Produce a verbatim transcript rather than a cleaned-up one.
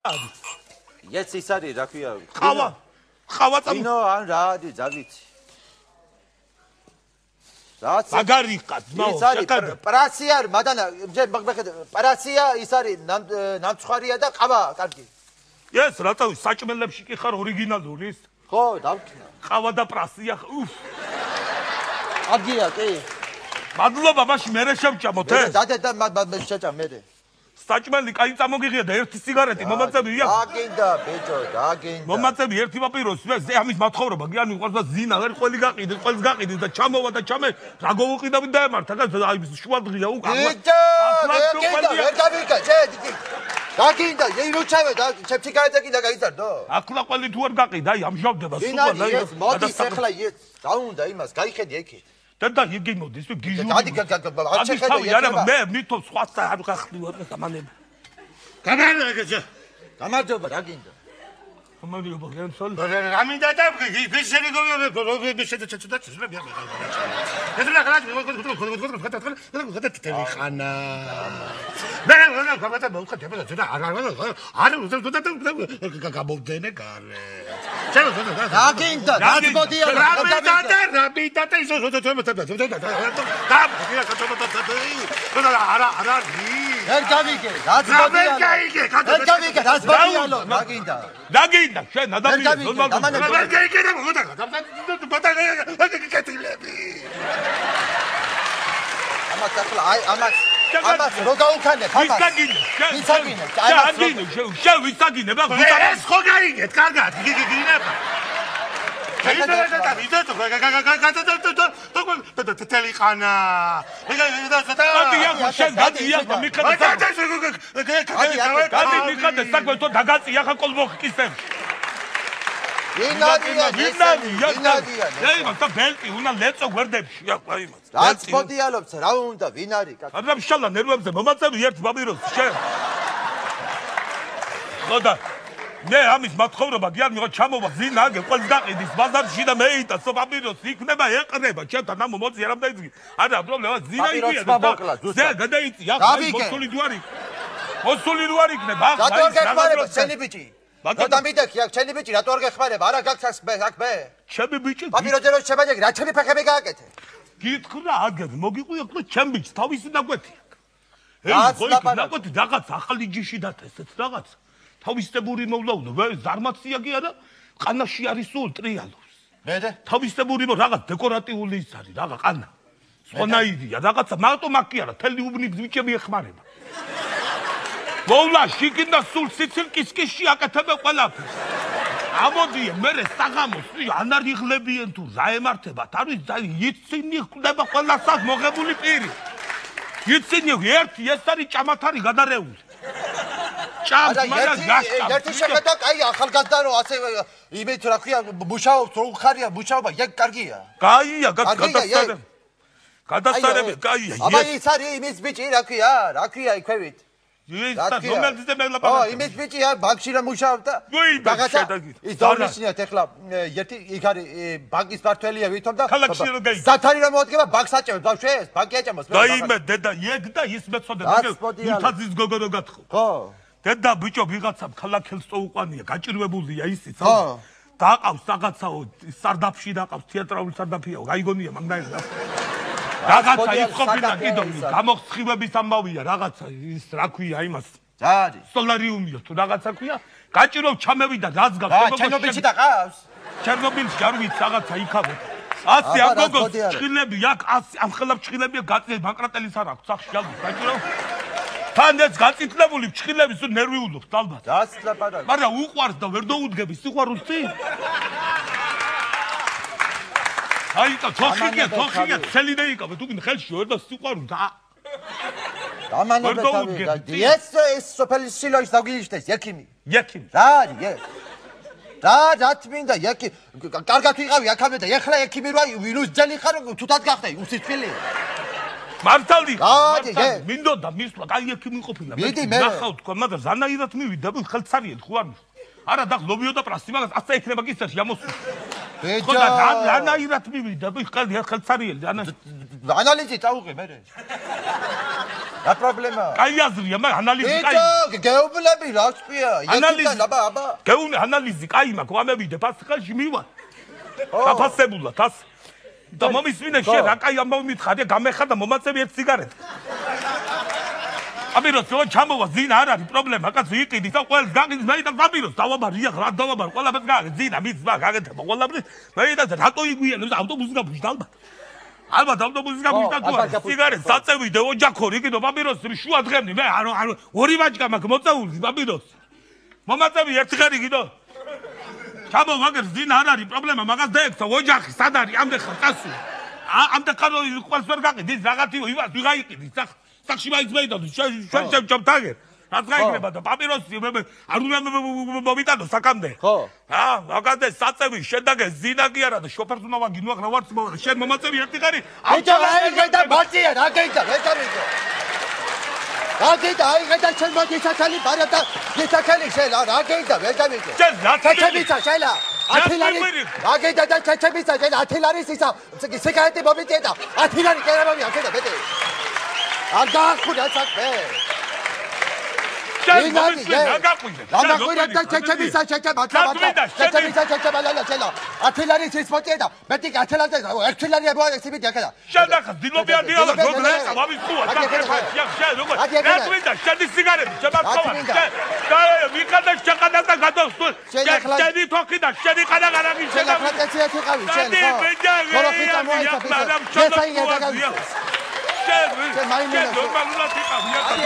Yes, ის არის, რა ქვია? ყავა. ყავა წამო. ინო ან რა არის, ზავიცი. რაც მაგარი ყად, მაო, შეკადე. პრაცი არის, მადანა, მეგდე, პრაცია ის არის, ნამცხვარია და ყავა, კარგი. ეს რატო საჭმელებში კი ხარ ორიგინალური ის? ხო, დავქნა. ყავა და პრაცია, უფ. აგია, კი. მადლობა, მაშინ მე შევჭამოთ ეს. დადე და მე შეჭამ მე. საჭმელი კაი წამოგიღია და ერთი სიგარეტი მომაწევი აქვს. აგინდა, ბიჭო, აგინდა. მომაწევი ერთი პაპიროს, მე ამის მათხოვრობა, გიანი უყურს და ზინა, ვერ ყველი გაყიდე, ყველს გაყიდე და ჩამოვა და ჩამე, რა გავუყიდავი დაემართა, აი შუა დღეა უკან. ბიჭო, აგინდა, ვერ გავიკა, შედი. აგინდა, ირო ჩავე და სიგარეტი კიდე გაიწარდო. ახლა ყველი თუ არ გაყიდა, აი ამჟავდება სულ და ეს მოდის ახლა ეს, დაუნდა იმას, გაიხედი ეკით. და იგი მოდის, გიჟული. დადი არ შეხედე ექნება. მე მითო სხვას არ გახდი ვარ დამანები. გამარჯობა. გამარჯობა, რა გინდა? გამარჯობა, გენსოლ. რა მინდა და ის შენი გოგო შედა ჩაჩუდა წესრა მე. ეს რა ხარ? მე ტელეხანა. მე რა გამათა მოხდა და ზედა არ არ არ გამოვდენე გარე. ჩაო ზედა. რა გინდა? რა მოდია? რა მინდა და რა მინდა და ისო ზედა ზედა. და არა არა ვერ გავიგე, რაც მოდია. ვერ გავიგე, ვერ გავიგე, რაც მოდია, რა გინდა? რა გინდა? შენ ადამიანი ნორმალურად. ვერ გავიგე და მოდა. ბატა კეთილები. ამას ახლა აი ამას ამას რო გაუქანე, ამას. ვის გაგინე? ვის გაგინე? გაგინე, შენ ვის გაგინე? ეს ხო გაიგეთ, კარგად, გიგიგინება. შეიძლება და ვიდეო და ტელეხანა. გადია, შენ გადია, მიხადე. გადი მიხადე, საკვეთო დაგაწია ხა კოლბოხკისებს. ვინადია, ვინადია, ვინადია. აი, მაგა ბელტი უნდა ლეწო გვერდებში, აი მას. რაც მოდიალობს, რა უნდა, ვინ არის? არა მშალა ნერვებზე მომაწევი ერთ ბაბიროს, შენ. ხოდა მე ამის მათხოვრობა გიან მიღო ჩამოვა ზინა აგე ყველს გაყიდის ბაზარში და მეიტა სოფაბიროს იქნება ეყრება ჩემთან ამ მოძი არ ამდაიძგი არა პრობლემა ზინა იქია და გადაიწი ახლა მოსული დუარი მოსული დუარი იქნება ახლა რატო არ გეხმარება შენი ბიჭი და მიდექი აქ შენი ბიჭი რატო არ გეხმარება არა გაქცას აქ მე ჩემი ბიჭი პაპიროზე რო შემაჯეგი რა ჩემი ფეხები გააკეთე გითხრა აგერ მოგიყვი ახლა ჩემი ბიჭი თავისი ნაკვეთი აქ ეს ხო ნაკვეთი რაღაც ახალი ჯიში დათა ესეც რაღაც თავისებური მოვლაუნო, ზარმაცია კი არა, ყანაში არის სულ ტრიალობს. მედე? თავისებური მო რაღაც დეკორატიული ის არის, რაღაც ყანა. სვანაიდია, რაღაცა მარტო მაგ კი არა, თელი უბნი ბიჭები ეხმარება. მოვლა შიგნდა სულ სიცილკისკიში აკეთებენ ყველაფერს. ამოდიან, მე საღამოს ანარიღლებიან თუ რა ემართებათ, არის იცინი ხდება ყველასას მოღებული პირი. იცინი ერთი ეს არის ჭამათარი გადარეული. ჭამს მაგრამ გასჭამს. ერთი შეხედა, კაი ახალგაზრდა რო ასე იმით რა ქვია, მუშაობს, რო უხარია მუშაობა, ეგ კარგია. კაია, გადასწრები. გადასწრები, კაია. აბა ის არის იმის ბიჭი, რა ქვია, რა ქვია იქვევით. ის და რომელზეც მე ლაპარაკობ. ო, იმის ბიჭია, ბანკში რა მუშაობდა? რაღაცა ის დავნიშნიათ ეხლა ერთი იქ არის ბანკის მართველია ვითომ და ქალაქში რო გაიგე. სათარი რა მოადგება ბანკს აჭამებს, ბავშვებს, ბანკი აჭამოს. დაიმე დედა, ეგ და ის მეწოდე, მუთაძის გოგო რო გათხო. ხო. დედა ბიჭო ვიღაცამ ქალაქელს წოუყვანია, გაჭირვებულია ისიც. ხო. დაყავს რაღაცაო სარდაფში დაყავს თეატრალური სარდაფიაო, გაიგონია მაგნაირად. რაღაცა ის ყოფილა კიდო გამოხსხივების ამბავია, რაღაცა ის რა ქვია იმას. რა არის? სოლარიუმია თუ რაღაცა ქვია. გაჭირვებ ჩამევიდა რაც გავს. ჩერნობილში დაყავს? ჩერნობილში არ ვიცი რაღაცა იქავე. ასე ამ გოგოს ჭხილები აქ ასე ამ ხელა ჭხილებია გაწე ბანკრატელის არ აქვს სახში ალბათ გაჭირვებ. თან ეს გაწითლებული ჭხილები სულ ნერვიულობს ალბათ. დასწლაპარა. მაგრამ უყვარს და ვერ დაუდგები სიყვარულს წინ. აი და თოხიგია, თოხიგია, ცელინე იკავე, თუ გინდა ხელში ვერ და სიყვარულს და დამანებე თავი. ეს ეს სოფელი სილოის დაგიიშტეს, ექიმი. ექიმი. რა არის ეს? რა რა თმინდა ექი კარგად ვიყავი აქამდე და ეხლა ექიმი რა ვინუს ძელი ხარ თუთად გახდა უსიცილი. მართალი. გადი, მინდოდა მისვლა, კაი ექიმი ყოფილა. მიდი მე. ნახავ თქვა, მაგრამ ზანაირად მივიდა, ხელცარიეთ ხო არ მის. არა და ლობიო და პრასი, მაგას ასე იქნება კისერში ამოსულ. ბეჯა. ხო და ზანაირად მივიდა, ხელცარიელი, ანალიზი წაუყე მე. რა პრობლემაა? კაი აზრია, მაგრამ ანალიზი კაი. იცო, გეუბნები რა თქვია? ანალიზი აბა, აბა. გეუბნები ანალიზი კაი მაქვს, ამევიდე ფასხალში მივა. დაფასებულად, ას. და მომისმინე შენ რა კაი ამბავი მითხარია, გამეხარდა მომაწევი ერთ სიგარეტი. აბიროს რო ჩამოვა ზინა არ არის პრობლემა, კაცო იყიდი და ყველს გაგიძ მე და აბიროს დავაბარი ახლა რა დავაბარ ყველაფერს გაგე ზინა მიცვა გაგეთება ყველაფერს მე და რატო იგვიანებს ავტობუსი გაფუშდა ალბათ ალბათ ავტობუსი გაფუშდა თუ არა სიგარეტს საწევიდე ოჯახორი კიდო აბიროს შუა დღემდე მე არ არ ორი ვაჭკა მაქვს მოწეული აბიროს მომაწევი ერთი ხერი კიდო ჩამო მაგერ ზინა არ არის პრობლემა მაგას დაექცა ოჯახი სად არის ამდე ხარ წასულ ამდე ხარ ყველს ვერ გაყიდი რაღაციო იმას ვიღაიყიდი სახ სახში მაინც მეიდო შენ შენ შენ თაგე რაც გაიქნება და პაპიროსი არ უნდა მომიტანო საკამდე ხო ა მაგაზე საწევი შედაგე ზინა კი არა და შოფერს უნდა ვაგინო ახლა ვარც მოვა შენ მომაწევი ერთი ხარი აიჭა აი გაიტა ბაცია რა გაიტა ვეცამიდო რა გაიტა აი გაიტა შენ მოდი საჩალი ბარა და საჩალი შენ რა გაიტა ვეცამიდო შენ რა საჩებიცა შელა ათილარი რა გაიტა და საჩებიცა შენ ათილარის ისა სიგარეტი მომიწია და ათილარი კერამამი ახლა ბეტე არ გაახვიდა საქმე. შენ მომისმენ რა გაყვიდე? რა გაყვიდა და ჩეჩებისა ჩეჩება თამათა. ჩეჩებისა ჩეჩება ლალა შელა. ათილარი სისპოტია და მეტი ათილარი ერთილარი აბა სიბიდი ახლა. შენ ახლა დილობი არ დილობა როგორ ეცა ვამისხუა და შენ როგორ რა გვინდა შენი სიგარეტი შემარცხოვა შენ და მიყადა შეყადა და გადავსულ შენი თოქი და შენი ყადა გარაგი შენ ახლა წეციათ იყავი შენ ხო? ხოროფიტა მოიწაფი. ესაია და შენ შენ ნორმალურად იყავი ახლა